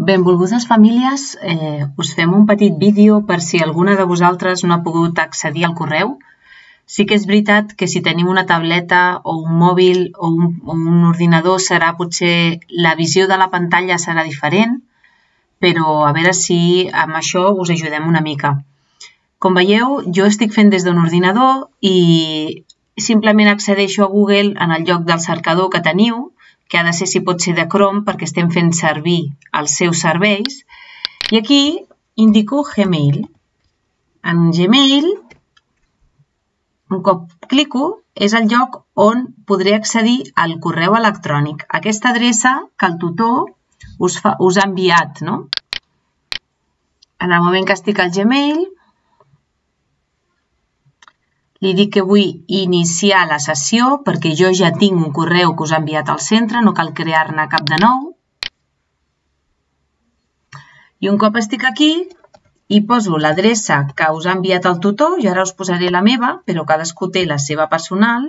Benvolgudes famílies, us fem un petit vídeo per si alguna de vosaltres no ha pogut accedir al correu. Sí que és veritat que si tenim una tableta o un mòbil o un ordinador potser la visió de la pantalla serà diferent, però a veure si amb això us ajudem una mica. Com veieu, jo estic fent des d'un ordinador i simplement accedeixo a Google en el lloc del cercador que teniu, que ha de ser, si pot ser, de Chrome, perquè estem fent servir els seus serveis. I aquí indico Gmail. En Gmail, un cop clico, és el lloc on podré accedir al correu electrònic. Aquesta adreça que el tutor us ha enviat, no? En el moment que estic al Gmail, li dic que vull iniciar la sessió perquè jo ja tinc un correu que us ha enviat al centre, no cal crear-ne cap de nou. I un cop estic aquí, hi poso l'adreça que us ha enviat el tutor, i ara us posaré la meva, però cadascú té la seva personal.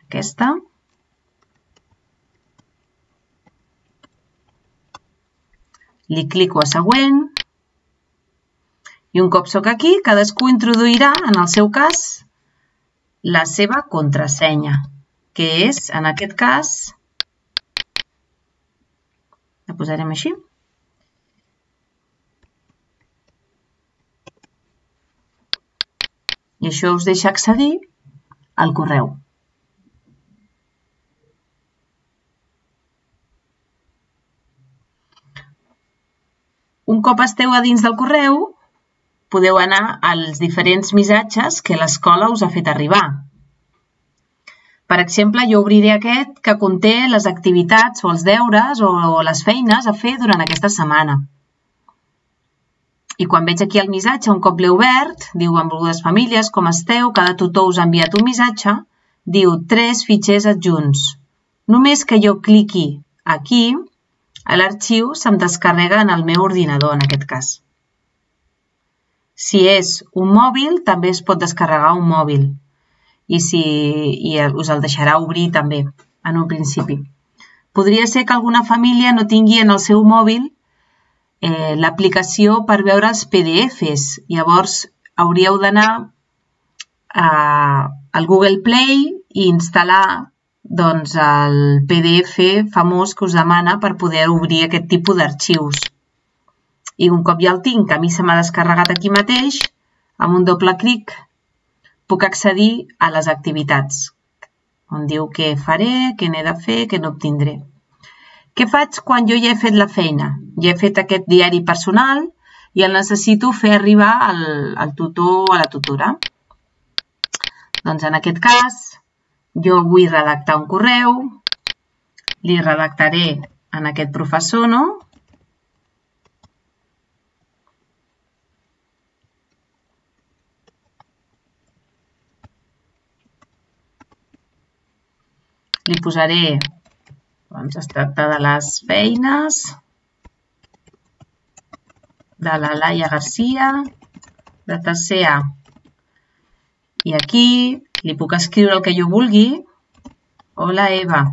Aquesta. Li clico a següent. I un cop soc aquí, cadascú introduirà, en el seu cas, la seva contrasenya, que és, en aquest cas, la posarem així. I això us deixa accedir al correu. Un cop esteu a dins del correu, podeu anar als diferents missatges que l'escola us ha fet arribar. Per exemple, jo obriré aquest que conté les activitats o els deures o les feines a fer durant aquesta setmana. I quan veig aquí el missatge, un cop l'he obert, diu: benvolgudes famílies, com esteu? Cada tutor us ha enviat un missatge. Diu 3 fitxers adjunts. Només que jo cliqui aquí, l'arxiu se'm descarrega en el meu ordinador, en aquest cas. Si és un mòbil, també es pot descarregar un mòbil. I us el deixarà obrir també, en un principi. Podria ser que alguna família no tingui en el seu mòbil l'aplicació per veure els PDFs. Llavors, hauríeu d'anar al Google Play i instal·lar el PDF famós que us demana per poder obrir aquest tipus d'arxius. I un cop ja el tinc, a mi se m'ha descarregat aquí mateix, amb un doble clic puc accedir a les activitats, on diu què faré, què n'he de fer, què n'obtindré. Què faig quan jo ja he fet la feina? Ja he fet aquest diari personal i el necessito fer arribar al tutor o a la tutora. Doncs en aquest cas, jo vull redactar un correu, li redactaré en aquest professor, no? Li posaré, es tracta de les feines de la Laia Garcia, de tercer A. I aquí li puc escriure el que jo vulgui. Hola, Eva.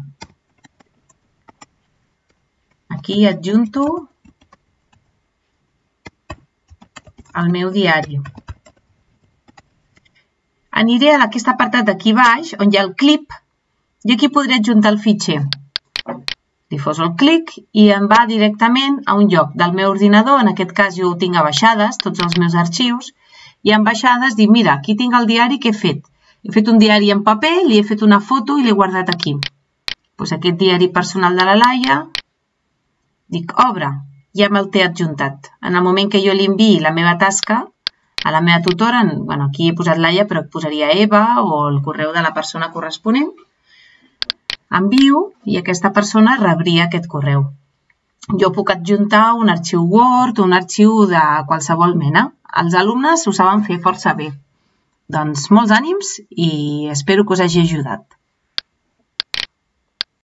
Aquí adjunto el meu diari. Aniré a aquest apartat d'aquí baix, on hi ha el clip, i aquí podré adjuntar el fitxer. Li poso el clic i em va directament a un lloc del meu ordinador, en aquest cas jo ho tinc a baixades, tots els meus arxius, i en baixades dic, mira, aquí tinc el diari que he fet. He fet un diari en paper, li he fet una foto i l'he guardat aquí. Doncs aquest diari personal de la Laia, dic, obre, ja me'l té adjuntat. En el moment que jo li enviï la meva tasca a la meva tutora, aquí he posat Laia, però posaria Eva o el correu de la persona corresponent, envio i aquesta persona rebria aquest correu. Jo puc adjuntar un arxiu Word o un arxiu de qualsevol mena. Els alumnes ho saben fer força bé. Doncs molts ànims i espero que us hagi ajudat.